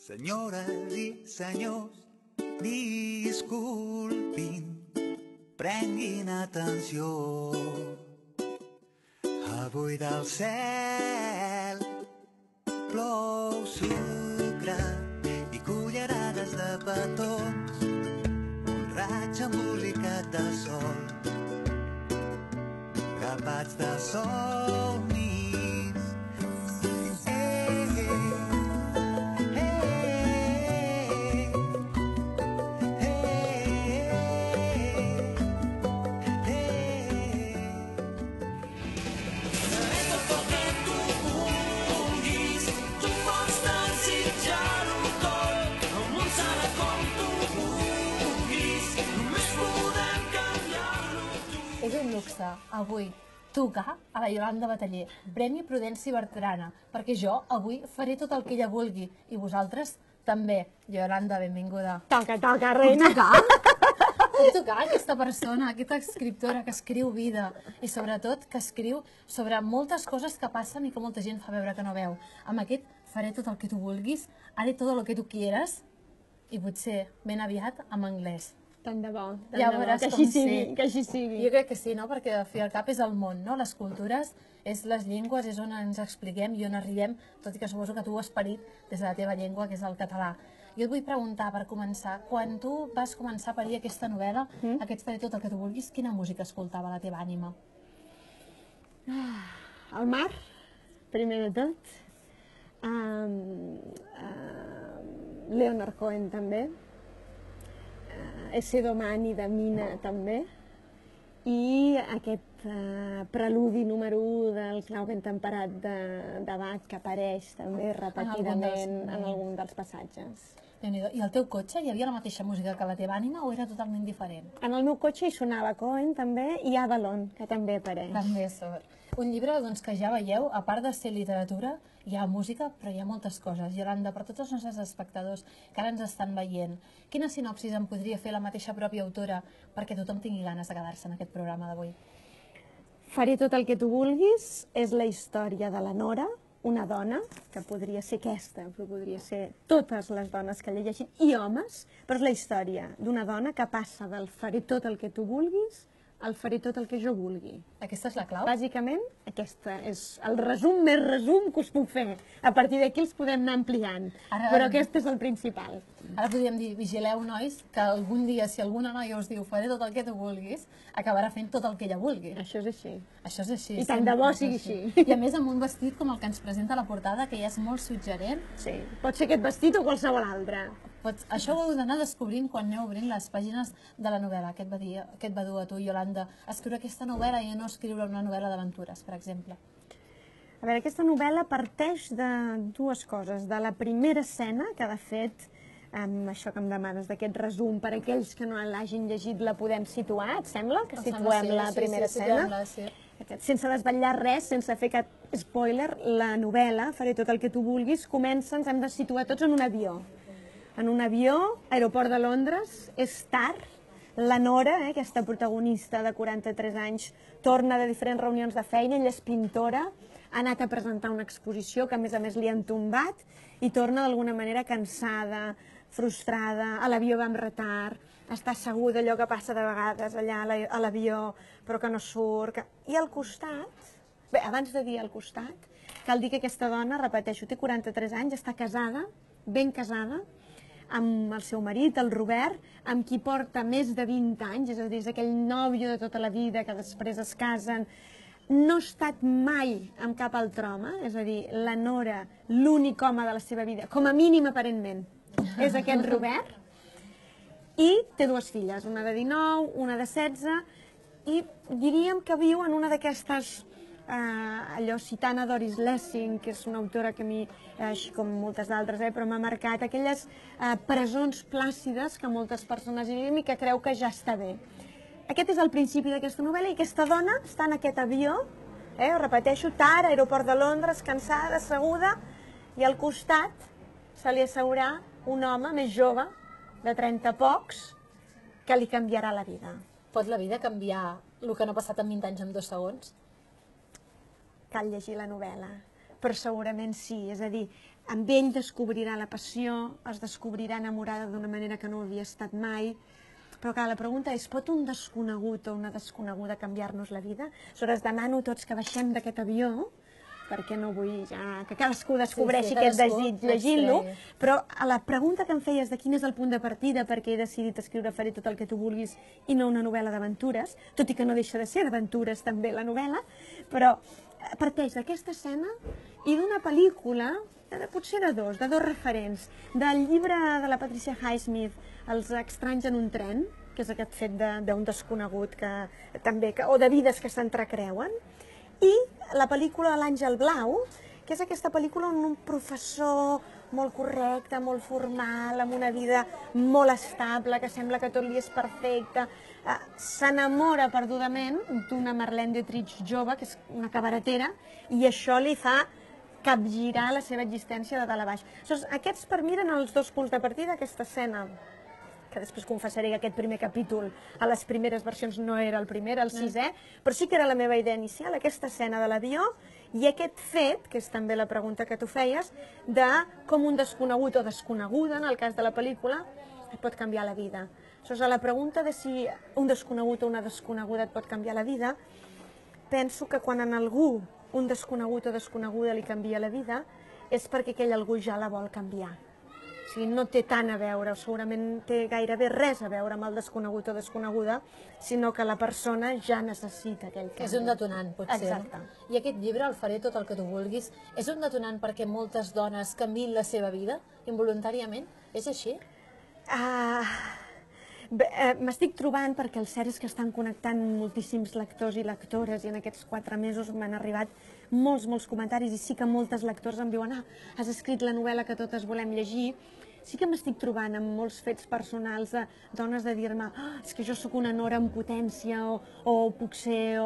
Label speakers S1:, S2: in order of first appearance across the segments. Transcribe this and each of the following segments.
S1: Senyores i senyors, disculpin, prenguin atenció. Avui del cel plou sucre i cullerades de petons, un raig embolicat de sol, grapats de somnis.
S2: És un luxe, avui, tocar a la Iolanda Bataller, Premi Prudència Bertrana, perquè jo avui faré tot el que ella vulgui, i vosaltres també. Iolanda, benvinguda.
S3: Toca, toca, reina.
S2: Puc tocar aquesta persona, aquesta escriptora que escriu vida i sobretot que escriu sobre moltes coses que passen i que molta gent fa veure que no veu. Amb aquest faré tot el que tu vulguis, haré tot el que tu quieras i potser ben aviat en anglès.
S3: Tant de bo,
S2: Ja veuràs
S3: que
S2: com
S3: així sigui,
S2: sí.
S3: que així sigui.
S2: Jo crec que sí, no? Perquè al fi al cap és el món, no? Les cultures, és les llengües, és on ens expliquem i on arribem, tot i que suposo que tu ho has parit des de la teva llengua, que és el català. Jo et vull preguntar, per començar, quan tu vas començar a parir aquesta novel·la, Aquest faré tot el que tu vulguis, quina música escoltava la teva ànima?
S3: El mar, primer de tot. Leonard Cohen també. Ese Domani de Mina també, i aquest preludi número 1 del Clau ben temperat de Bach, que apareix també repetidament en algun dels passatges.
S2: I al teu cotxe hi havia la mateixa música que la teva ànima o era totalment diferent?
S3: En el meu cotxe hi sonava Cohen també, i Avalon, que també apareix.
S2: També sort. Un llibre doncs, que ja veieu, a part de ser literatura, hi ha música, però hi ha moltes coses. Iolanda, per tots els nostres espectadors que ara ens estan veient, quina sinopsis en podria fer la mateixa pròpia autora perquè tothom tingui ganes de quedar-se en aquest programa d'avui?
S3: Faré tot el que tu vulguis és la història de la Nora, una dona, que podria ser aquesta, però podria ser totes les dones que l'he llegit, i homes, però és la història d'una dona que passa del faré tot el que tu vulguis al faré tot el que jo vulgui.
S2: Aquesta és la clau?
S3: Bàsicament, aquesta és el resum més resum que us puc fer. A partir d'aquí els podem anar ampliant, però aquest és el principal.
S2: Ara podríem dir, vigileu, nois, que algun dia, si alguna noia us diu faré tot el que tu vulguis, acabarà fent tot el que ella vulgui.
S3: Això és així.
S2: Això és així.
S3: I tant de bo sigui així.
S2: I a més amb un vestit com el que ens presenta a la portada, que ja és molt suggerent.
S3: Sí, pot ser aquest vestit o qualsevol altre.
S2: Això ho heu d'anar descobrint quan aneu obrint les pàgines de la novel·la. Què et va dur a tu, Iolanda, a escriure aquesta novel·la i a no escriure una novel·la d'aventures, per exemple?
S3: A veure, aquesta novel·la parteix de dues coses. De la primera escena, que de fet, amb això que em demanes, d'aquest resum, per aquells que no l'hagin llegit la podem situar, et sembla? Que situem la primera escena? Sense desvetllar res, sense fer cap spoiler, la novel·la, faré tot el que tu vulguis, comença, ens hem de situar tots en un avió. En un avió, aeroport de Londres, és tard, la Nora, aquesta protagonista de 43 anys, torna de diferents reunions de feina, ella és pintora, ha anat a presentar una exposició que a més li han tombat i torna d'alguna manera cansada, frustrada, a l'avió va amb retard, està asseguda, allò que passa de vegades allà a l'avió, però que no surt. I al costat, bé, abans de dir al costat, cal dir que aquesta dona, repeteixo, té 43 anys, està casada, ben casada, amb el seu marit, el Robert, amb qui porta més de 20 anys, és a dir, és aquell nòvio de tota la vida que després es casen. No ha estat mai amb cap altre home, és a dir, la Nora, l'únic home de la seva vida, com a mínim aparentment, és aquest Robert, i té dues filles, una de 19, una de 16, i diríem que viu en una d'aquestes, allò citant a Doris Lessing, que és una autora que a mi, així com moltes d'altres, però m'ha marcat, aquelles presons plàcides que moltes persones hi vivim i que creu que ja està bé. Aquest és el principi d'aquesta novel·la i aquesta dona està en aquest avió, ho repeteixo, tard, aeroport de Londres, cansada, asseguda, i al costat se li asseurà un home més jove, de 30 pocs, que li canviarà la vida.
S2: Pot la vida canviar el que no ha passat en 20 anys en 2 segons?
S3: Cal llegir la novel·la. però segurament sí, és a dir, amb ell descobrirà la passió, es descobrirà enamorada d'una manera que no havia estat mai, però clar, la pregunta és, pot un desconegut o una desconeguda canviar-nos la vida? Aleshores, demano tots que baixem d'aquest avió, perquè no vull ja que cadascú descobreixi aquest desig llegint-lo, però a la pregunta que em feies de quin és el punt de partida perquè he decidit escriure Faré tot el que tu vulguis i no una novel·la d'aventures, tot i que no deixa de ser d'aventures també la novel·la, però parteix d'aquesta escena i d'una pel·lícula, potser de dos referents, del llibre de la Patricia Highsmith, Els estranys en un tren, que és aquest fet d'un desconegut o de vides que s'entrecreuen, i la pel·lícula L'Àngel Blau, que és aquesta pel·lícula on un professor molt correcte, molt formal, amb una vida molt estable, que sembla que tot li és perfecte, s'enamora perdudament d'una Marlene Dietrich jove, que és una cabaretera, i això li fa capgirar la seva existència de dalt a baix. Aquests per mi eren els dos punts de partida d'aquesta escena, que després confessaré que aquest primer capítol a les primeres versions no era el primer, era el sisè, però sí que era la meva idea inicial, aquesta escena de l'avió i aquest fet, que és també la pregunta que tu feies, de com un desconegut o desconeguda, en el cas de la pel·lícula, et pot canviar la vida. A la pregunta de si un desconegut o una desconeguda et pot canviar la vida, penso que quan en algú un desconegut o desconeguda li canvia la vida és perquè aquell algú ja la vol canviar. O sigui, no té tant a veure, o segurament té gairebé res a veure amb el desconegut o desconeguda, sinó que la persona ja necessita aquell canvi.
S2: És un detonant, potser.
S3: Exacte.
S2: I aquest llibre, El faré tot el que tu vulguis, és un detonant perquè moltes dones canviïn la seva vida involuntàriament? És així?
S3: M'estic trobant, perquè el cert és que estan connectant moltíssims lectors i lectores, i en aquests 4 mesos m'han arribat molts comentaris, i sí que moltes lectors em diuen has escrit la novel·la que totes volem llegir. Sí que m'estic trobant amb molts fets personals de dones de dir-me és que jo sóc una nora en potència, o puc ser,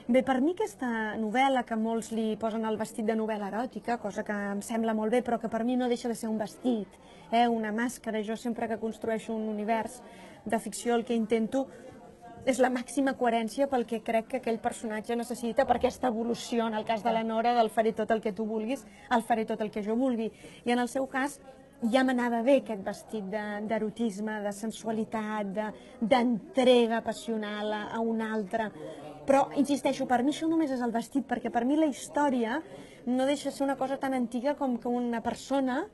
S3: Bé, per mi aquesta novel·la, que molts li posen el vestit de novel·la eròtica, cosa que em sembla molt bé, però que per mi no deixa de ser un vestit, una màscara. Jo sempre que construeixo un univers de ficció el que intento és la màxima coherència pel que crec que aquell personatge necessita per aquesta evolució, en el cas de la Nora, del faré tot el que tu vulguis, el faré tot el que jo vulgui. I en el seu cas ja m'anava bé aquest vestit d'erotisme, de sensualitat, d'entrega passional a un altre. Però, insisteixo, per mi això només és el vestit, perquè per mi la història no deixa de ser una cosa tan antiga com que una persona,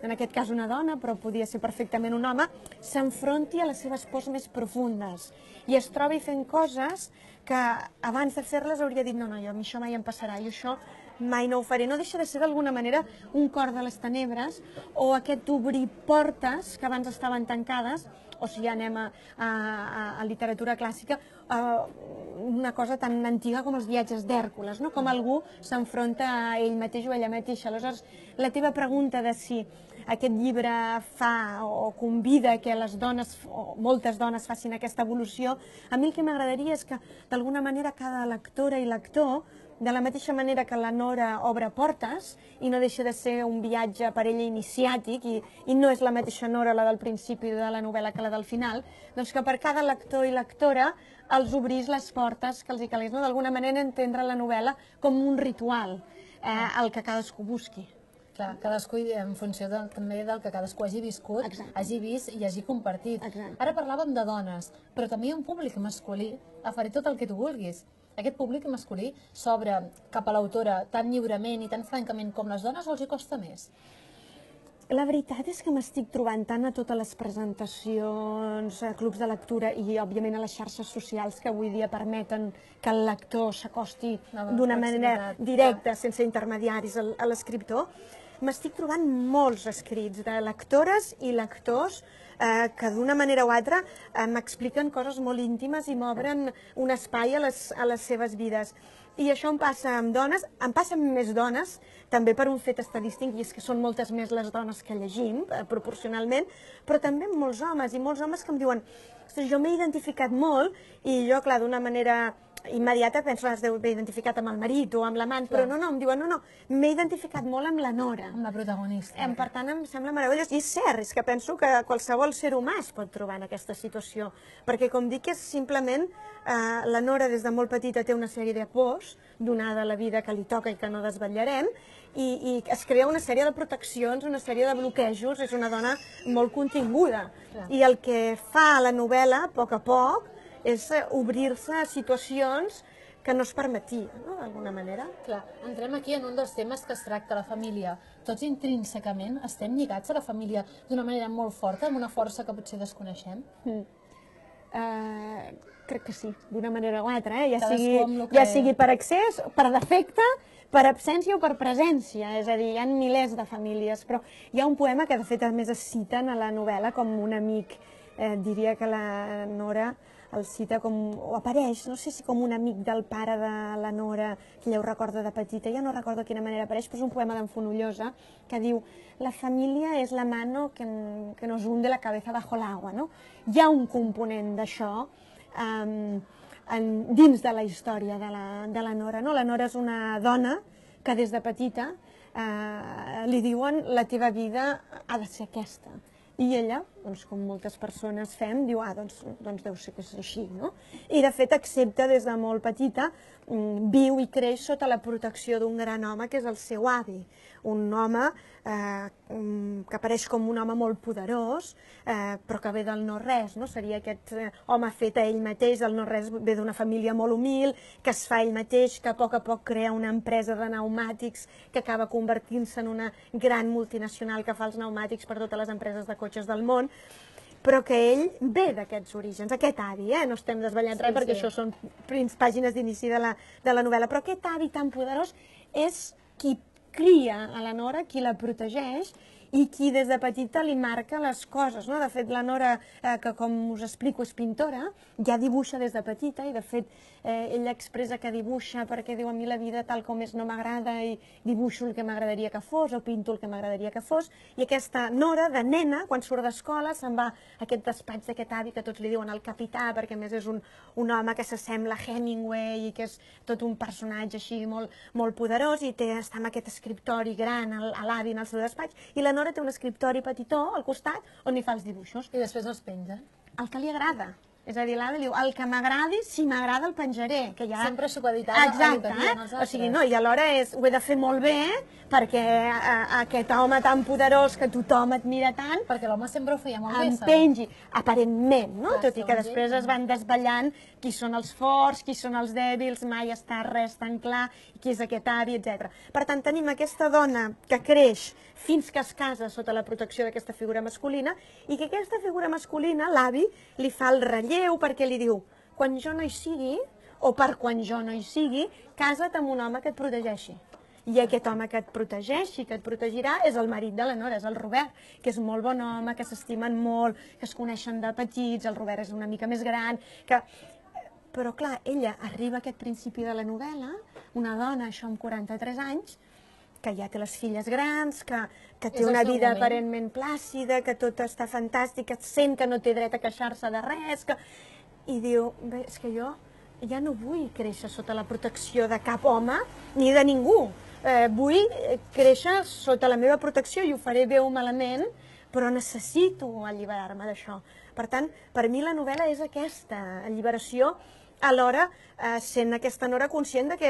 S3: en aquest cas una dona, però podia ser perfectament un home, s'enfronti a les seves pors més profundes i es trobi fent coses que abans de fer-les hauria dit no, jo a mi això mai em passarà, jo això mai no ho faré. No deixa de ser d'alguna manera un cor de les tenebres o aquest obrir portes que abans estaven tancades, o si ja anem a literatura clàssica, una cosa tan antiga com els viatges d'Hèrcules, com algú s'enfronta a ell mateix o a ella mateixa. Aleshores, la teva pregunta de si aquest llibre fa o convida que les dones, o moltes dones, facin aquesta evolució, a mi el que m'agradaria és que d'alguna manera cada lectora i lector, de la mateixa manera que la Nora obre portes i no deixa de ser un viatge per ella iniciàtic i no és la mateixa Nora la del principi de la novel·la que la del final, doncs que per cada lector i lectora els obrís les portes que els hi calgués, d'alguna manera entendre la novel·la com un ritual, el que cadascú busqui.
S2: Clar, cadascú en funció també del que cadascú hagi viscut, hagi vist i hagi compartit. Ara parlàvem de dones, però també hi ha un públic masculí, faré tot el que tu vulguis. Aquest públic masculí s'obre cap a l'autora tan lliurement i tan francament com les dones o els hi costa més?
S3: La veritat és que m'estic trobant tant a totes les presentacions, a clubs de lectura i, òbviament, a les xarxes socials que avui dia permeten que el lector s'acosti d'una manera directa, sense intermediaris, a l'escriptor. M'estic trobant molts escrits de lectores i lectors que d'una manera o altra m'expliquen coses molt íntimes i m'obren un espai a les seves vides. I això em passa amb dones, em passa amb més dones, també per un fet estadístic, i és que són moltes més les dones que llegim, proporcionalment, però també amb molts homes, i molts homes que em diuen jo m'he identificat molt, i jo, clar, d'una manera immediata penso que has d'haver identificat amb el marit o amb l'amant, però no, em diuen, no, m'he identificat molt amb la nora.
S2: Amb la protagonista.
S3: Per tant, em sembla meravellós. I és cert, és que penso que qualsevol ser humà es pot trobar en aquesta situació, perquè com dic, és simplement la nora des de molt petita té una sèrie de pors, donada la vida que li toca i que no desvetllarem, i es crea una sèrie de proteccions, una sèrie de bloquejos, és una dona molt continguda. I el que fa la novel·la, a poc, és obrir-se a situacions que no es permetia, no?, d'alguna manera.
S2: Clar, entrem aquí en un dels temes que es tracta, la família. Tots intrínsecament estem lligats a la família d'una manera molt forta, amb una força que potser desconeixem?
S3: Crec que sí, d'una manera o altra,
S2: ja
S3: sigui per excés, per defecte, per absència o per presència, és a dir, hi ha milers de famílies, però hi ha un poema que de fet a més es citen a la novel·la com un amic, diria que la Nora el cita com, o apareix, no sé si com un amic del pare de la Nora, que ella ho recorda de petita, ja no recordo de quina manera apareix, però és un poema d'en Fonollosa que diu: la família és la mano que nos hunde la cabeza bajo el agua, no? Hi ha un component d'això dins de la història de la Nora, no? La Nora és una dona que des de petita li diuen la teva vida ha de ser aquesta. I ella, doncs, com moltes persones fem, diu, doncs deu ser que és així, no? I de fet accepta des de molt petita, viu i creix sota la protecció d'un gran home que és el seu avi. Un home que apareix com un home molt poderós, però que ve del no-res, no? Seria aquest home fet a ell mateix, el no-res ve d'una família molt humil, que es fa ell mateix, que a poc crea una empresa de pneumàtics que acaba convertint-se en una gran multinacional que fa els pneumàtics per totes les empreses de cotxes del món, però que ell ve d'aquests orígens, aquest avi, no estem desvetllant res perquè això són pàgines d'inici de la novel·la, però aquest avi tan poderós és qui cria a la Nora, qui la protegeix i qui des de petita li marca les coses. De fet, la Nora, que com us explico és pintora, ja dibuixa des de petita i de fet ella expressa que dibuixa perquè diu: a mi la vida tal com és no m'agrada i dibuixo el que m'agradaria que fos o pinto el que m'agradaria que fos. I aquesta Nora, de nena, quan surt d'escola, se'n va a aquest despatx d'aquest avi que tots li diuen el capità, perquè a més és un home que s'assembla a Hemingway i que és tot un personatge així molt poderós i està en aquest escriptori gran a l'avi en el seu despatx, i la Nora té un escriptori petitó al costat on hi fa els dibuixos.
S2: I després els penja?
S3: El que li agrada. És a dir, l'avi diu, el que m'agradi, si m'agrada el penjaré.
S2: Sempre supeditat a el que diuen els altres.
S3: O sigui, no, i alhora ho he de fer molt bé perquè aquest home tan poderós que tothom admira tant...
S2: Perquè l'home sempre ho feia molt bé,
S3: em pengi, aparentment, no? Tot i que després es van desvetllant qui són els forts, qui són els dèbils, mai està res tan clar, qui és aquest avi, etc. Per tant, tenim aquesta dona que creix fins que es casa sota la protecció d'aquesta figura masculina i que aquesta figura masculina, l'avi, li fa el relleu perquè li diu: quan jo no hi sigui, o per quan jo no hi sigui, casa't amb un home que et protegeixi. I aquest home que et protegeixi, que et protegirà, és el marit de la Nora, és el Robert, que és molt bon home, que s'estimen molt, que es coneixen de petits, el Robert és una mica més gran, que... Però, clar, ella arriba a aquest principi de la novel·la, una dona, això amb 43 anys, que ja té les filles grans, que té una vida aparentment plàcida, que tot està fantàstic, que sent que no té dret a queixar-se de res, i diu, bé, és que jo ja no vull créixer sota la protecció de cap home ni de ningú. Vull créixer sota la meva protecció i ho faré bé o malament, però necessito alliberar-me d'això. Per tant, per mi la novel·la és aquesta alliberació, alhora sent aquesta Nora conscient que,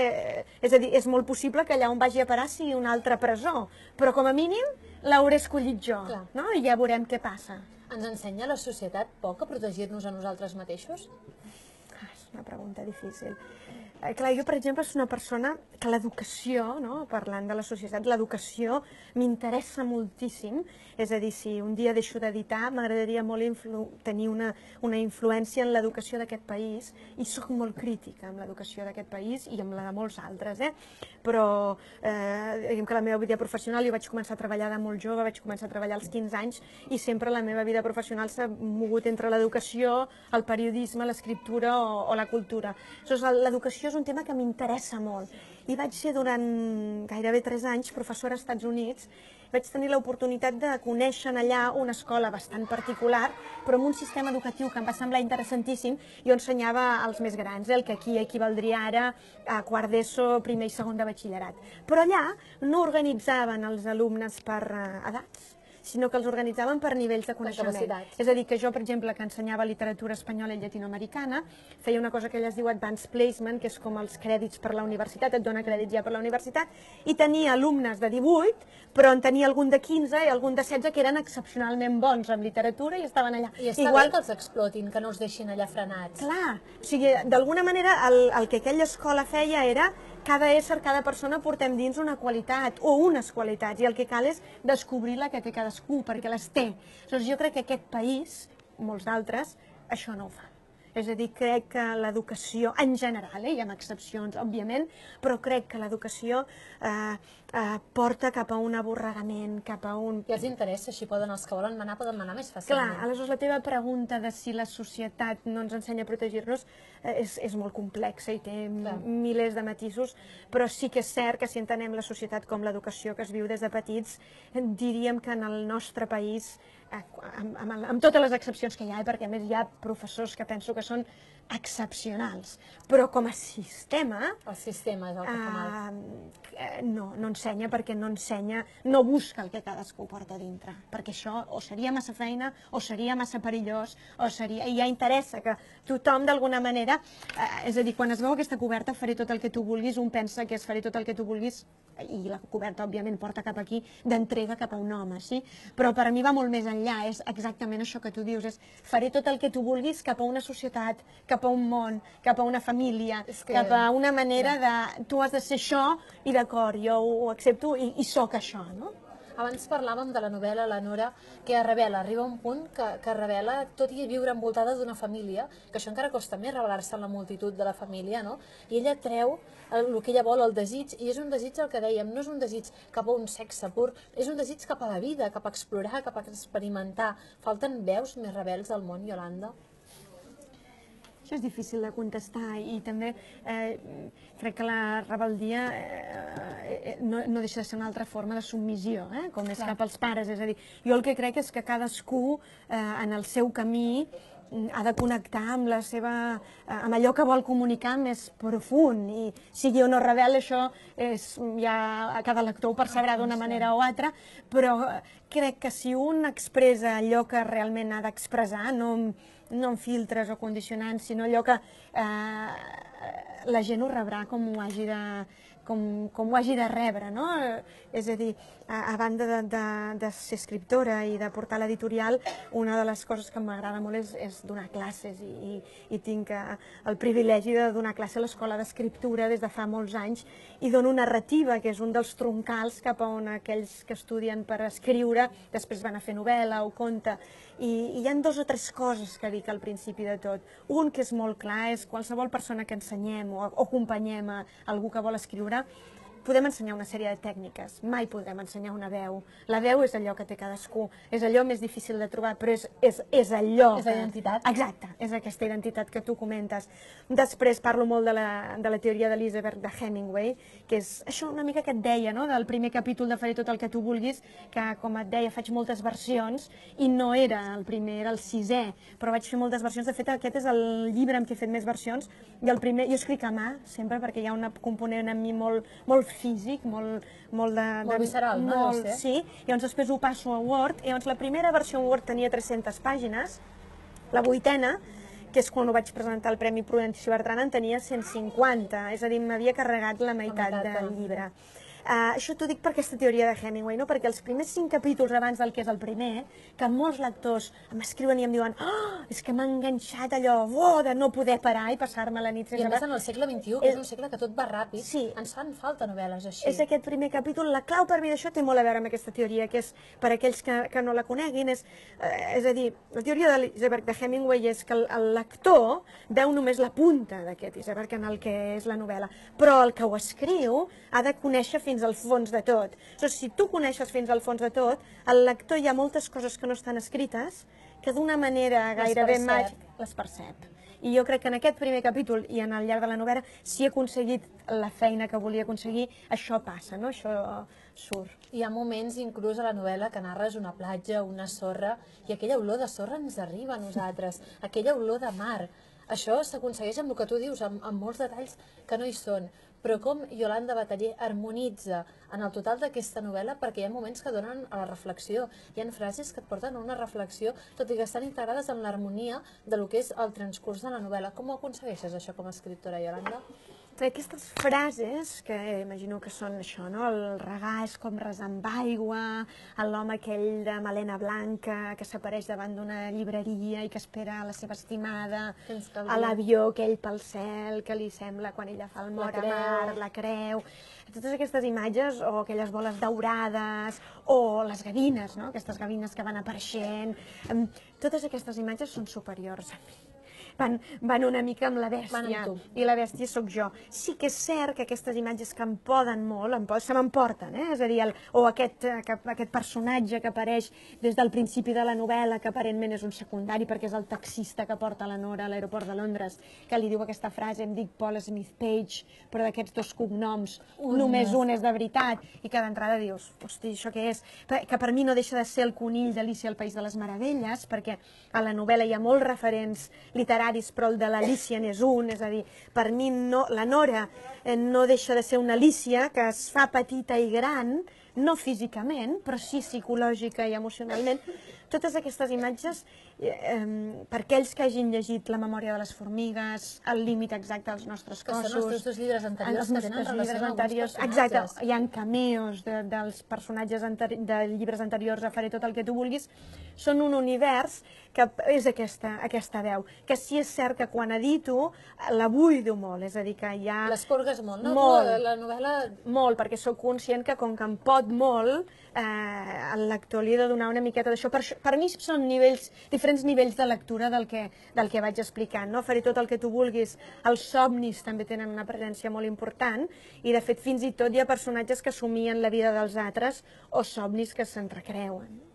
S3: és a dir, és molt possible que allà on vagi a parar sigui una altra presó, però com a mínim l'hauré escollit jo, i ja veurem què passa.
S2: Ens ensenya la societat poc a protegir-nos a nosaltres mateixos?
S3: És una pregunta difícil. Clar, jo, per exemple, soc una persona que l'educació, parlant de la societat, l'educació m'interessa moltíssim. És a dir, si un dia deixo d'editar, m'agradaria molt tenir una influència en l'educació d'aquest país, i soc molt crítica amb l'educació d'aquest país i amb la de molts altres, però diguem que la meva vida professional, jo vaig començar a treballar de molt jove, vaig començar a treballar als 15 anys, i sempre la meva vida professional s'ha mogut entre l'educació, el periodisme, l'escriptura o la cultura. L'educació és un tema que m'interessa molt. I vaig ser durant gairebé 3 anys professora als Estats Units. Vaig tenir l'oportunitat de conèixer allà una escola bastant particular, però amb un sistema educatiu que em va semblar interessantíssim. Jo ensenyava als més grans, el que aquí equivaldria ara a quart d'ESO, primer i segon de batxillerat. Però allà no organitzaven els alumnes per edats, sinó que els organitzaven per nivells de coneixement. És a dir, que jo, per exemple, que ensenyava literatura espanyola i llatinoamericana, feia una cosa que elles diu Advanced Placement, que és com els crèdits per la universitat, et dona crèdits ja per la universitat, i tenia alumnes de 18, però en tenia algun de 15 i algun de 16 que eren excepcionalment bons en literatura i estaven allà.
S2: I està bé que els explotin, que no els deixin allà frenats.
S3: Clar, o sigui, d'alguna manera el que aquella escola feia era cada ésser, cada persona portem dins una qualitat o unes qualitats i el que cal és descobrir la que té cadascú perquè les té. Llavors jo crec que aquest país, molts d'altres, això no ho fan. És a dir, crec que l'educació, en general, hi ha excepcions, òbviament, però crec que l'educació porta cap a un aborregament, cap a un...
S2: I els interessa, així poden, els que volen manar, poden manar més fàcilment.
S3: Clar, aleshores la teva pregunta de si la societat no ens ensenya a protegir-nos és molt complexa i té milers de matisos, però sí que és cert que si entenem la societat com l'educació que es viu des de petits, diríem que en el nostre país, amb totes les excepcions que hi ha, perquè a més hi ha professors que penso que són excepcionals, però com a sistema...
S2: El sistema és el que fa mal.
S3: No ensenya perquè no ensenya, no busca el que cadascú porta dintre, perquè això o seria massa feina, o seria massa perillós, o seria... I ja interessa que tothom d'alguna manera, és a dir, quan es veu aquesta coberta, faré tot el que tu vulguis, un pensa que és faré tot el que tu vulguis, i la coberta, òbviament, porta cap aquí, d'entrega cap a un home, sí? Però per a mi va molt més enllà, és exactament això que tu dius, és faré tot el que tu vulguis cap a una societat, cap a un món, cap a una família, cap a una manera de... Tu has de ser això, i d'acord, jo ho accepto i sóc això, no?
S2: Abans parlàvem de la novel·la, la Nora, que revela, arriba un punt que revela, tot i viure envoltada d'una família, que això encara costa més, revelar-se en la multitud de la família, no? I ella treu el que ella vol, el desig, i és un desig el que dèiem, no és un desig cap a un sexe pur, és un desig cap a la vida, cap a explorar, cap a experimentar. Falten veus més rebels al món, Iolanda?
S3: Això és difícil de contestar i també crec que la rebeldia no deixa de ser una altra forma de submissió, com és cap als pares. És a dir, jo el que crec és que cadascú en el seu camí ha de connectar amb amb allò que vol comunicar més profund, i sigui o no rebel, això ja cada lector ho percebrà d'una manera o altra, però crec que si un expressa allò que realment ha d'expressar, no amb filtres o condicionants, sinó allò que la gent ho rebrà com ho hagi de rebre, no? És a dir, a banda de ser escriptora i de portar l'editorial, una de les coses que m'agrada molt és donar classes i tinc el privilegi de donar classe a l'Escola d'Escriptura des de fa molts anys i dono narrativa, que és un dels troncals cap a on aquells que estudien per escriure després van a fer novel·la o conte. I hi ha 2 o 3 coses que dic al principi de tot. Un que és molt clar és qualsevol persona que ensenyem o acompanyem a algú que vol escriure, podem ensenyar una sèrie de tècniques, mai podrem ensenyar una veu. La veu és allò que té cadascú, és allò més difícil de trobar, però és allò...
S2: És la identitat.
S3: Exacte, és aquesta identitat que tu comentes. Després parlo molt de la teoria d'Elizabeth de Hemingway, que és això una mica que et deia, no?, del primer capítol de Faré tot el que tu vulguis, que, com et deia, faig moltes versions, i no era el primer, era el 6è, però vaig fer moltes versions. De fet, aquest és el llibre amb què he fet més versions, i el primer, jo escric a mà, sempre, perquè hi ha un component en mi molt físic, molt
S2: visceral, no?
S3: Sí, llavors després ho passo a Word, i llavors la primera versió en Word tenia 300 pàgines, la 8a, que és quan ho vaig presentar al Premi Prudencio Bertran, en tenia 150, és a dir, m'havia carregat la meitat del llibre. Això t'ho dic per aquesta teoria de Hemingway, no? Perquè els primers 5 capítols abans del que és el primer, que molts lectors m'escriuen i em diuen és que m'ha enganxat allò de no poder parar i passar-me la nit sense...
S2: I a més en el segle XXI, que és un segle que tot va ràpid, ens fan falta novel·les així.
S3: És aquest primer capítol, la clau per mi d'això té molt a veure amb aquesta teoria, que és, per aquells que no la coneguin, és a dir, la teoria de Hemingway és que el lector veu només la punta d'aquest iceberg en el que és la novel·la, però el que ho escriu ha de conèixer fins al fons de tot. Si tu coneixes fins al fons de tot, el lector hi ha moltes coses que no estan escrites que d'una manera gairebé màgica les percep. I jo crec que en aquest primer capítol i en el llarg de la novel·la, si he aconseguit la feina que volia aconseguir, això passa, no? Això surt.
S2: Hi ha moments, inclús a la novel·la, que narres una platja, una sorra, i aquella olor de sorra ens arriba a nosaltres, aquella olor de mar. Això s'aconsegueix amb el que tu dius, amb molts detalls que no hi són. Però com Iolanda Bataller harmonitza en el total d'aquesta novel·la, perquè hi ha moments que donen a la reflexió. Hi ha frases que et porten a una reflexió, tot i que estan integrades en l'harmonia de lo que és el transcurs de la novel·la. Com ho aconsegueixes, això, com a escriptora, Iolanda?
S3: Aquestes frases, que imagino que són això, no? El regar és com resar amb aigua, l'home aquell de melena blanca que s'apareix davant d'una llibreria i que espera a la seva estimada, a l'avió aquell pel cel que li sembla quan ella fa el mort a mar, la creu... Totes aquestes imatges, o aquelles boles daurades, o les gavines, no? Aquestes gavines que van apareixent... Totes aquestes imatges són superiors a mi. Van una mica amb la bèstia, i la bèstia sóc jo. Sí que és cert que aquestes imatges que em poden molt, se m'emporten, és a dir, o aquest personatge que apareix des del principi de la novel·la, que aparentment és un secundari perquè és el taxista que porta la Nora a l'aeroport de Londres, que li diu aquesta frase, em dic Paul Smith Page, però d'aquests dos cognoms només un és de veritat, i que d'entrada dius, hosti, això què és? Que per mi no deixa de ser el conill d'Alícia al País de les Meravelles, perquè a la novel·la hi ha molts referents literaris, però el de l'Alícia n'és un, és a dir, per mi la Nora no deixa de ser una Alícia que es fa petita i gran, no físicament, però sí psicològica i emocionalment. Totes aquestes imatges, per aquells que hagin llegit La memòria de les formigues, El límit exacte dels nostres cossos...
S2: Que són els teus dos llibres anteriors que tenen relació amb alguns personatges.
S3: Exacte, hi ha cameos dels personatges de llibres anteriors, a Faré tot el que tu vulguis. Són un univers que és aquesta veu, que sí és cert que quan edito la buido molt, és a dir, que hi ha...
S2: L'escorgues molt, no?
S3: Molt.
S2: La novel·la...
S3: Molt, perquè sóc conscient que com que em pot molt, el lector li he de donar una miqueta d'això. Per mi són diferents nivells de lectura del que vaig explicant, no? Faré tot el que tu vulguis. Els somnis també tenen una presència molt important i, de fet, fins i tot hi ha personatges que somien la vida dels altres o somnis que se'n recreuen.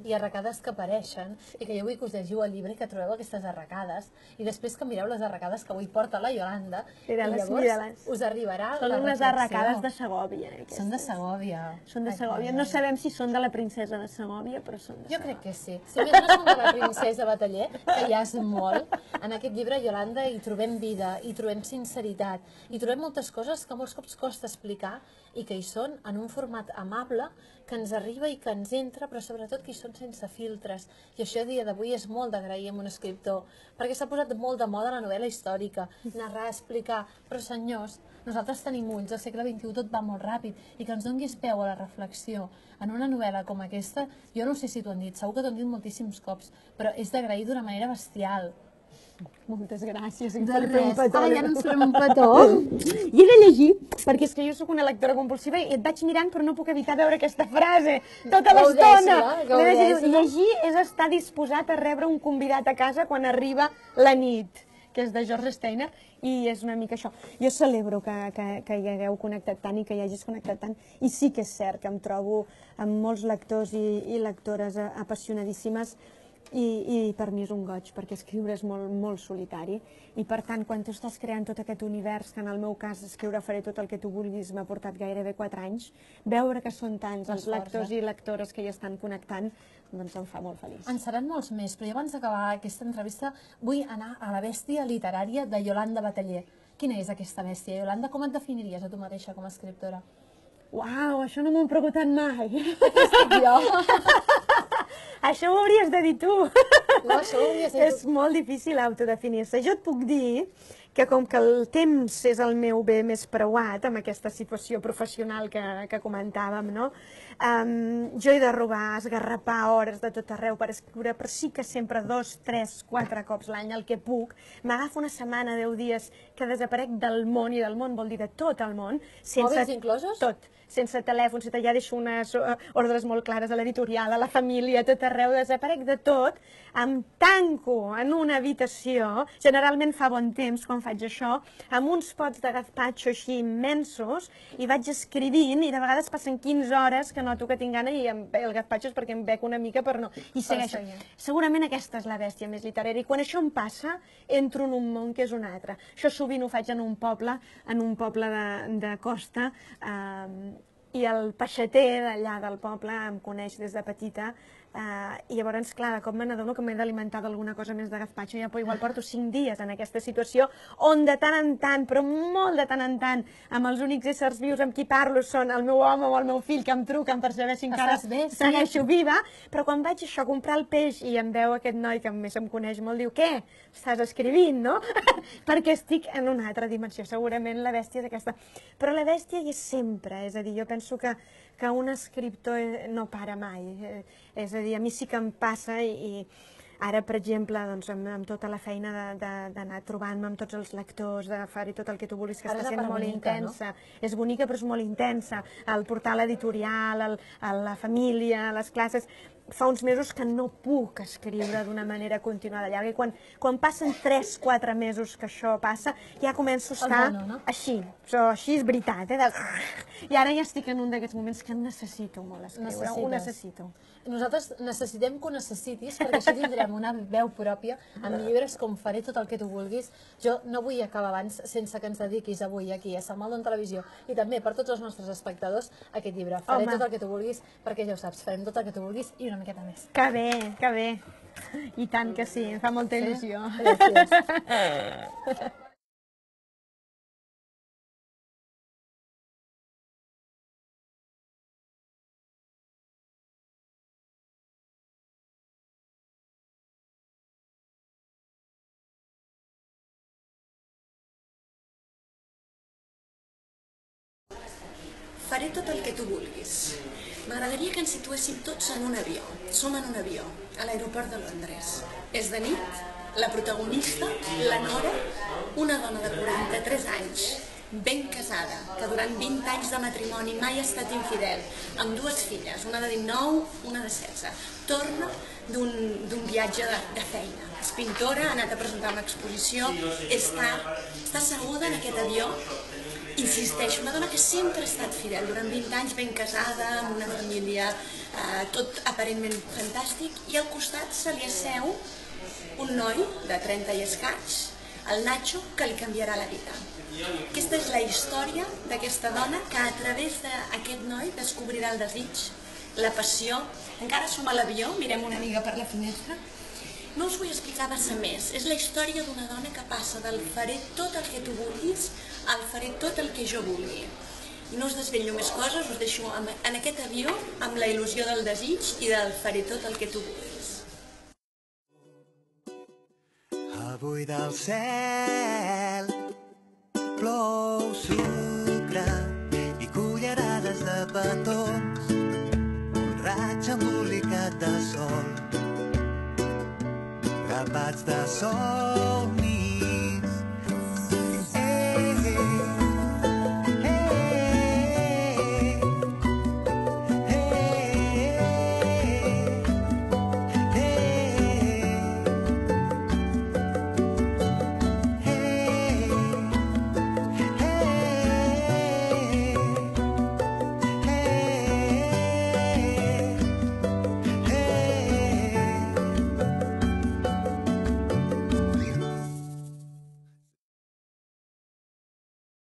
S2: I arracades que apareixen, i que jo vull que us llegiu el llibre i que trobeu aquestes arracades, i després que mireu les arracades que avui porta la Iolanda, i llavors us arribarà la reflexió.
S3: Són unes arracades de Segòvia.
S2: Són de Segòvia.
S3: Són de Segòvia. No sabem si són de la princesa de Segòvia, però són de Segòvia.
S2: Jo crec que sí. Si més no són de la princesa Bataller, que ja és molt, en aquest llibre, Iolanda, hi trobem vida, hi trobem sinceritat, hi trobem moltes coses que molts cops costa explicar i que hi són en un format amable, que ens arriba i que ens entra, però sobretot que hi són sense filtres. I això a dia d'avui és molt d'agrair amb un escriptor, perquè s'ha posat molt de moda la novel·la històrica, narrar, explicar, però senyors, nosaltres tenim ulls, al segle XXI tot va molt ràpid, i que ens donguis peu a la reflexió en una novel·la com aquesta, jo no sé si t'ho han dit, segur que t'ho han dit moltíssims cops, però és d'agrair d'una manera bestial.
S3: Moltes gràcies.
S2: De res. Ja no ens farem un petó.
S3: I he de llegir, perquè és que jo sóc una lectora compulsiva i et vaig mirant però no puc evitar veure aquesta frase tota l'estona. Llegir és estar disposat a rebre un convidat a casa quan arriba la nit, que és de George Steiner, i és una mica això. Jo celebro que hi hagueu connectat tant i que hi hagis connectat tant, i sí que és cert que em trobo amb molts lectors i lectores apassionadíssimes, i per mi és un goig, perquè escriure és molt solitari, i per tant, quan tu estàs creant tot aquest univers, que en el meu cas escriure Faré tot el que tu vulguis m'ha portat gairebé 4 anys, veure que són tants els lectors i lectores que hi estan connectant, doncs em fa molt feliç.
S2: En seran molts més, però jo abans d'acabar aquesta entrevista vull anar a la bèstia literària de Iolanda Bataller. Quina és aquesta bèstia, Iolanda? Com et definiries a tu mateixa com a escriptora?
S3: Uau, això no m'ho he preguntat mai.
S2: Aquí estic jo.
S3: Això ho hauries de dir tu.
S2: No, això ho hauries de dir tu.
S3: És molt difícil autodefinir-se. Jo et puc dir que com que el temps és el meu bé més preuat amb aquesta situació professional que comentàvem, no? Jo he de robar, esgarrapar hores de tot arreu per escriure, però sí que sempre 2, 3, 4 cops l'any el que puc. M'agafo una setmana, 10 dies, que desaparec del món, i del món vol dir de tot el món.
S2: Mòbils inclosos?
S3: Tot. sense telèfon, sense ja deixo unes ordres molt clares a l'editorial, a la família, a tot arreu, desaparec de tot, em tanco en una habitació, generalment fa bon temps quan faig això, amb uns pots de gazpacho així immensos, i vaig escrivint, i de vegades passen 15 hores que noto que tinc gana, i el gazpacho és perquè em bec una mica per no... I segueixo. Segurament aquesta és la bèstia més literària, i quan això em passa, entro en un món que és un altre. Això sovint ho faig en un poble de costa, i el peixater d'allà del poble em coneix des de petita, i llavors, clar, de cop me n'adono que m'he d'alimentar d'alguna cosa més de gazpacho, ja igual porto 5 dies en aquesta situació, on de tant en tant, però molt de tant en tant, amb els únics éssers vius amb qui parlo són el meu home o el meu fill que em truquen per saber si encara segueixo viva, però quan vaig això a comprar el peix i em veu aquest noi que més em coneix molt, diu, què? Estàs escrivint, no? Perquè estic en una altra dimensió, segurament la bèstia és aquesta. Però la bèstia hi és sempre, és a dir, jo penso que un escriptor no para mai, és a dir, a mi sí que em passa i ara, per exemple, amb tota la feina d'anar trobant-me amb tots els lectors, de fer-hi tot el que tu vulguis, que està sent molt intensa. És bonica, però és molt intensa. El portal editorial, la família, les classes... Fa uns mesos que no puc escriure d'una manera continuada llarga, i quan passen 3-4 mesos que això passa, ja començo a estar així. Així és veritat, I ara ja estic en un d'aquests moments que necessito molt escriure, ho necessito.
S2: Nosaltres necessitem que ho necessitis, perquè així tindrem una veu pròpia amb llibres com Faré tot el que tu vulguis. Jo no vull acabar abans sense que ens dediquis avui aquí a Salmaldon Televisió i també per tots els nostres espectadors aquest llibre, Faré tot el que tu vulguis, perquè ja ho saps, farem tot el que tu vulguis i una miqueta més.
S3: Que bé, que bé. I tant que sí, em fa molta il·lusió.
S2: Gràcies.
S4: Faré tot el que tu vulguis. M'agradaria que ens situéssim tots en un avió. Som en un avió, a l'aeroport de Londres. És de nit, la protagonista, la Nora, una dona de 43 anys, ben casada, que durant 20 anys de matrimoni mai ha estat infidel, amb 2 filles, una de 19, una de 16. Torna d'un viatge de feina. És pintora, ha anat a presentar una exposició, està asseguda en aquest avió. Insisteixo, una dona que sempre ha estat fidel, durant 20 anys ben casada, amb una família, tot aparentment fantàstic, i al costat se li asseu un noi de 30 i escaig, el Nacho, que li canviarà la vida. Aquesta és la història d'aquesta dona que a través d'aquest noi descobrirà el desig, la passió. Encara som a l'avió, mirem una mica per la finestra. No us vull explicar massa més. És la història d'una dona que passa del faré tot el que tu vulguis al faré tot el que jo vulgui. I no us desvetllo més coses, us deixo en aquest avió amb la il·lusió del desig i del faré tot el que tu vulguis.
S1: Avui del cel plou sucre i cullerades de petons, un raig embolicat de sol, grapats de sol.